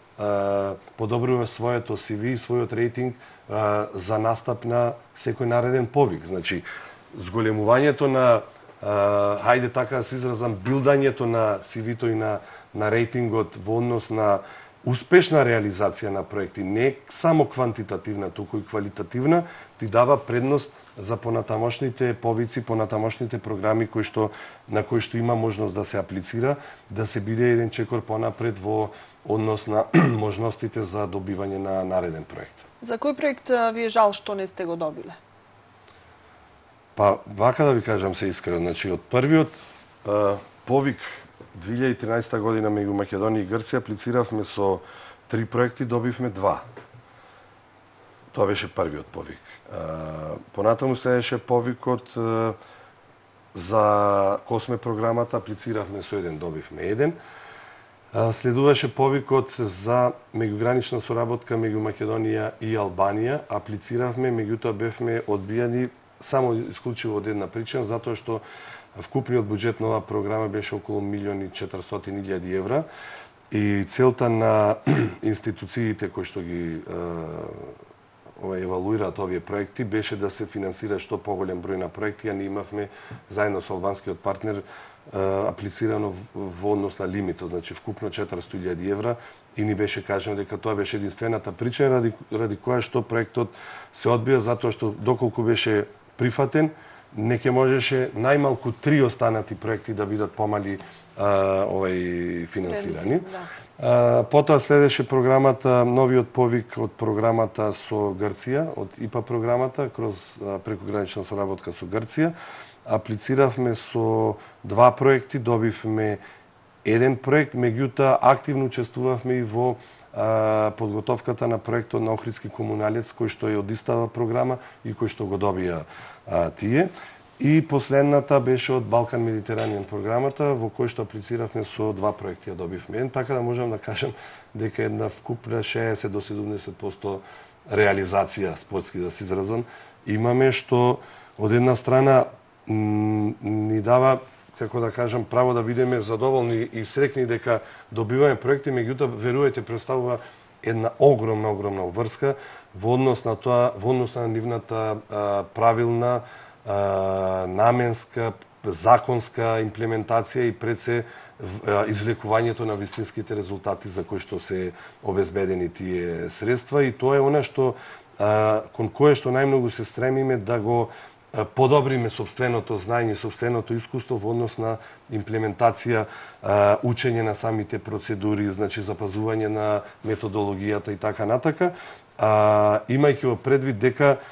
подобруваш своето CV и својот рейтинг за настап на секој нареден повик. Значи, зголемувањето на, хајде така да се изразам, билдањето на CV-то и на рейтингот во однос на успешна реализација на проекти, не само квантитативна, туку и квалитативна, ти дава предност за понатамошните повици, понатамошните програми на кои што има можност да се аплицира, да се биде еден чекор понапред во однос на можностите за добивање на нареден проект. За кој проект ви е жал што не сте го добиле? Па, вака да ви кажам се искрено, значи од првиот повик 2013 година меѓу Македонија и Грција аплициравме со 3 проекти, добивме 2. Тоа беше првиот повик. Понатаму следеше повикот за Косме програмата, аплициравме со 1, добивме 1. Следуваше повикот за меѓугранична соработка меѓу Македонија и Албанија, аплициравме, меѓутоа бевме одбијани само исклучиво од една причина, затоа што вкупниот буџет на оваа програма беше околу 1.400.000 евра и целта на институциите кои што ги евалуираат овие проекти беше да се финансира што поголем број на проекти, а ние имавме заедно со албанскиот партнер аплицирано во однос на лимитот, значи вкупно 400.000 евра и ни беше кажано дека тоа беше единствената причина ради која што проектот се одбија, затоа што доколку беше прифатен, не ќе можеше најмалку 3 останати проекти да бидат помали финансирани. Потоа следеше програмата, новиот повик од програмата со Грција, од ИПА програмата, кроз прекогранична соработка со Грција. Аплициравме со 2 проекти, добивме 1 проект, меѓутоа активно учествувавме и во подготовката на проектот на Охридски комуналец, кој што е од истава програма и кој што го добија тие. И последната беше од Балкан Медитеранијан програмата, во кој што аплициравме со 2 проекти, ја добивме 1, така да можам да кажам дека една вкупна 60 до 70% реализација, спортски да се изразам, имаме, што од една страна ни дава, како да кажам, право да бидеме задоволни и срекни дека добиваме проекти, меѓутоа верувајте представува една огромна обврска во однос на тоа, во однос на нивната правилна, наменска, законска имплементација и пред се извлекувањето на вистинските резултати за кои што се обезбедени тие средства, и тоа е она што кон кое што најмногу се стремиме да го подобриме сопственото знаење, сопственото искуство во однос на имплементација, учење на самите процедури, значи запазување на методологијата и така натака, имајќи во предвид дека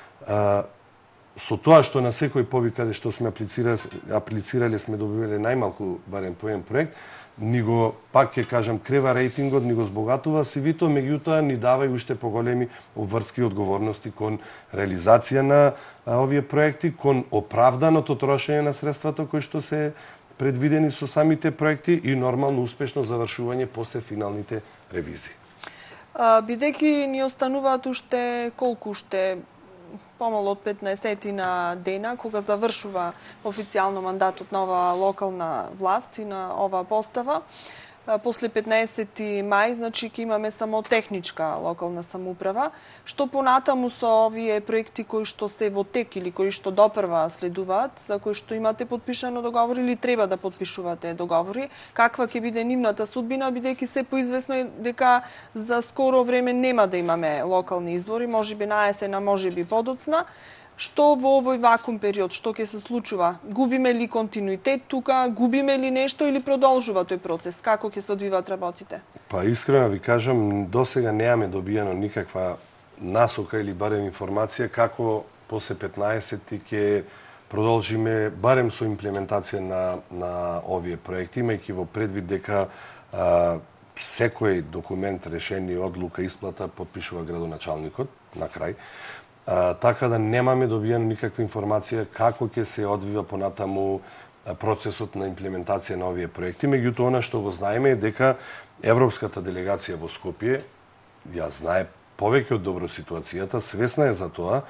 со тоа што на секој повик каде што сме аплицирале сме добивале најмалку барем по еден проект, ни го, пак ќе кажам, крева рейтингот, ни го збогатува CV-то, меѓутоа ни дава и уште поголеми обврски и одговорности кон реализација на овие проекти, кон оправданото трошење на средствата кои што се предвидени со самите проекти и нормално успешно завршување после финалните ревизии. Бидејќи ни остануваат уште помало од 15 на дена, кога завршува официјално мандатот на оваа локална власт и на оваа постава. После 15 мај, значи, ќе имаме само техничка локална самоуправа. Што понатаму со овие проекти кои што се во тек или кои што допрва следуваат, за кои што имате подпишано договори или треба да подпишувате договори, каква ќе биде нивната судбина, бидејќи се поизвестно е дека за скоро време нема да имаме локални избори, можеби на есен, можеби подоцна. Што во овој вакуум период, што ќе се случува? Губиме ли континуитет тука, губиме ли нешто или продолжува тој процес? Како ќе се одвиваат работите? Па искрено ви кажам, досега немаме добиено никаква насока или барем информација како после 15 ќе продолжиме барем со имплементација на овие проекти, имајќи во предвид дека секој документ, решение, одлука, исплата подпишува градоначалникот на крај. Така да немаме добиено никаква информација како ќе се одвива понатаму процесот на имплементација на овие проекти. Меѓутоа, она што го знаеме е дека Европската делегација во Скопје ја знае повеќе од добро ситуацијата, свесна е за тоа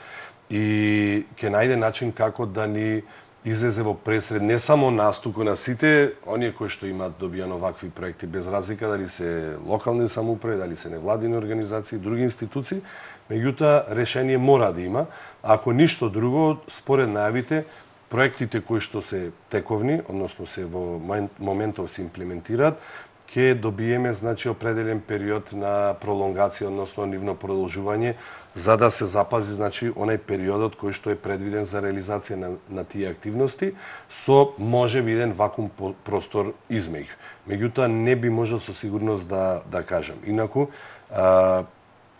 и ќе најде начин како да ни излезе во пресред не само нас, туку на сите оние кои што имаат добиено вакви проекти, без разлика дали се локални самоуправи, дали се невладини организации, други институции. Меѓутоа, решение мора да има. Ако ништо друго, според најавите, проектите кои што се тековни, односно се во моментов се имплементираат, ќе добиеме, значи, определен период на пролонгација, односно нивно продолжување, за да се запази, значи, онај периодот кој што е предвиден за реализација на тие активности, со можеби еден вакуум простор измеѓу. Меѓутоа, не би можел со сигурност да кажам. Инаку,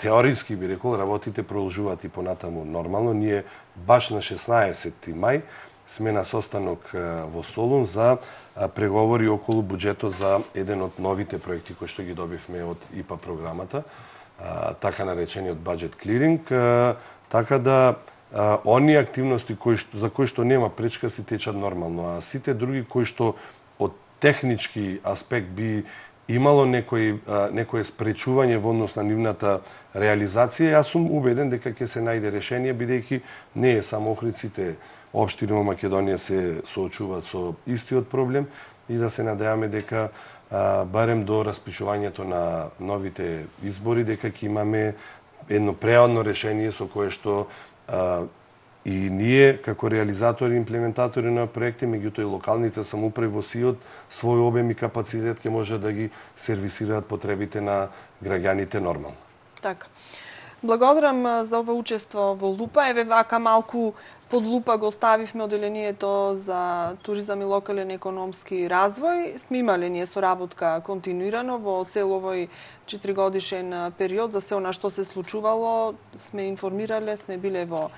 теориски би рекол, работите продолжуваат и понатаму нормално. Ние баш на 16 мај сме на состанок во Солун за преговори околу буџетот за еден од новите проекти кои што ги добивме од ИПА програмата, така наречениот budget clearing, така да оние активности за кои што нема пречка си течат нормално, а сите други кои што од технички аспект би имало некое спречување во однос на нивната реализација, јас сум убеден дека ќе се најде решение, бидејќи не е само Охридците, општини во Македонија се соочуваат со истиот проблем и да се надеваме дека барем до распишувањето на новите избори дека ќе имаме едно преодно решение со кое што и ние како реализатори и имплементатори на проекти, меѓутоа и локалните самоуправи во сиот свој обем и капацитет ќе може да ги сервисираат потребите на граѓаните нормално. Така. Благодарам за ова учество во Лупа. Еве вака малку под лупа го ставивме оделението за туризам и локален економски развој. Сме имале ние соработка континуирано во цел овој 4-годишен период за се она што се случувало. Сме информирале, сме биле во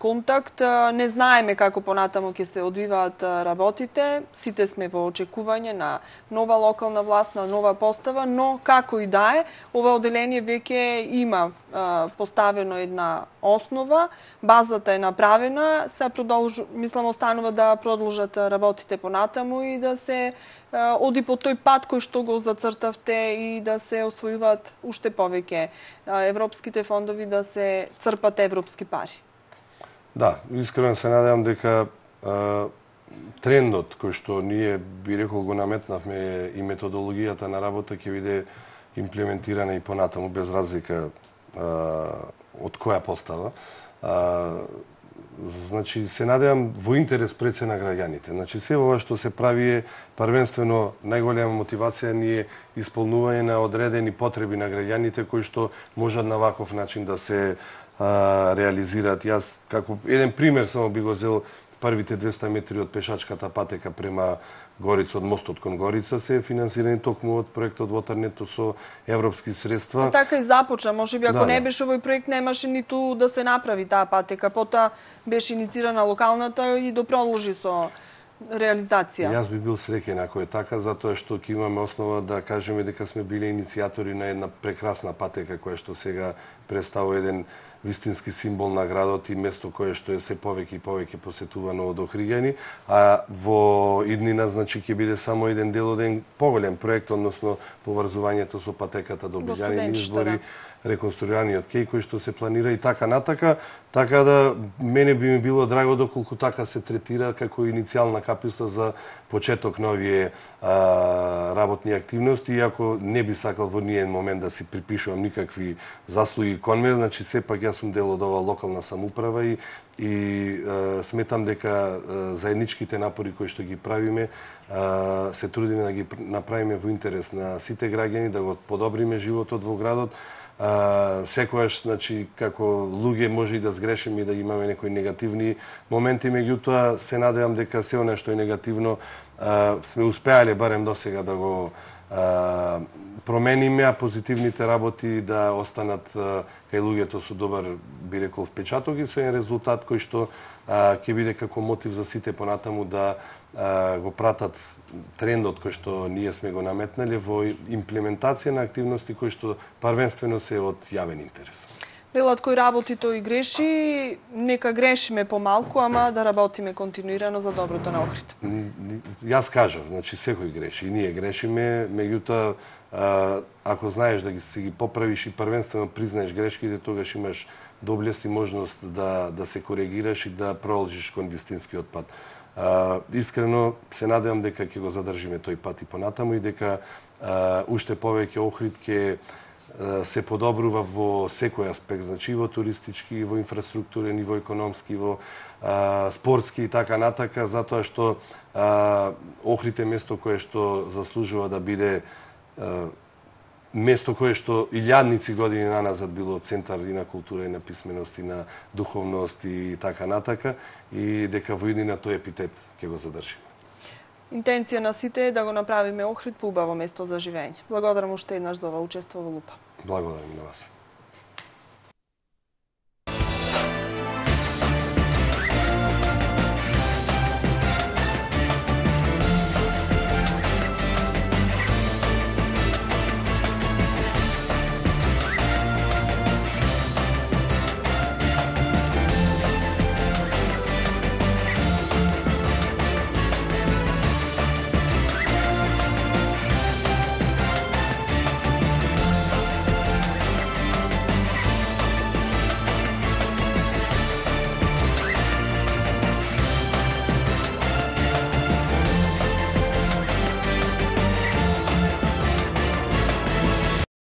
контакт. Не знаеме како понатаму ќе се одвиваат работите. Сите сме во очекување на нова локална власт, на нова постава, но како и да е, ова оделение веќе има поставено една основа, базата е направена, се мислам останува да продолжат работите понатаму и да се оди по тој пат кој што го зацртавте и да се освојуваат уште повеќе европските фондови, да се црпат европски пари. Да, искрено се надевам дека трендот кој што ние би рекол го наметнавме и методологијата на работа ќе биде имплементирана и понатаму без разлика од која постава. Значи, се надевам во интерес пред се на граѓаните. Значи, се ова што се прави е првенствено најголема мотивација ни е исполнување на одредени потреби на граѓаните кои што можат на ваков начин да се реализираат. Јас, како еден пример само би го зел, првите 200 метри од пешачката патека према Горица, од мостот кон Горица се финансирани токму од проектот Waternet со европски средства. А така и започна, можеби ако не беше овој проект немаше ниту да се направи таа патека, потоа беше иницирана локалната и допродолжи со реализација. Јас би бил среќен ако е така, затоа што ќе имаме основа да кажеме дека сме биле иницијатори на една прекрасна патека која што сега представува еден вистински символ на градот и место кое што е се повеќе и повеќе посетувано од Охриѓани, а во иднина значи ќе биде само еден дел од еден поголем проект, односно поврзувањето со патеката до Обиѓани избори, реконструираниот кеј кој што се планира и така натака, така да мене би ми било драго доколку така се третира како иницијална каписла за почеток на овие работни активности, иако не би сакал во ниеден момент да си припишувам никакви заслуги кон мене, значи сепак јас сум дел од ова локална самоуправа и сметам дека заедничките напори кои што ги правиме се трудиме да ги направиме во интерес на сите граѓани, да го подобриме животот во градот. Секојаш, значи, како луѓе може и да сгрешиме и да имаме некои негативни моменти, меѓутоа се надевам дека се она што е негативно сме успеале барем досега да го промениме, а позитивните работи да останат кај луѓето со добар, би рекол, впечаток и со еден резултат кој што ќе биде како мотив за сите понатаму да го пратат трендот кој што ние сме го наметнале во имплементација на активности кои што првенствено се од јавен интерес. Велат кој работи тој греши, нека грешиме помалку, ама да работиме континуирано за доброто на Охрид. Јас кажав, значи секој греши и ние грешиме, меѓутоа ако знаеш да ги поправиш и првенствено признаеш грешките, тогаш имаш доблест и можност да се коригираш и да продолжиш кон вистинскиот пат. Искрено се надевам дека ќе го задржиме тој пат и понатаму и дека уште повеќе Охрид ќе се подобрува во секој аспект, значи и во туристички, и во инфраструктурен, и во економски, и во спортски и така натака, затоа што Охрид е место кое што заслужува да биде место кое што илјадници години наназад било центар и на култура, и на писменост, и на духовност и така натака, и дека во иднина тој епитет ќе го задржиме. Интенција на сите е да го направиме Охрид поубаво место за живење. Благодарам уште еднаш за ова учество во Лупа. Благодарам и на вас.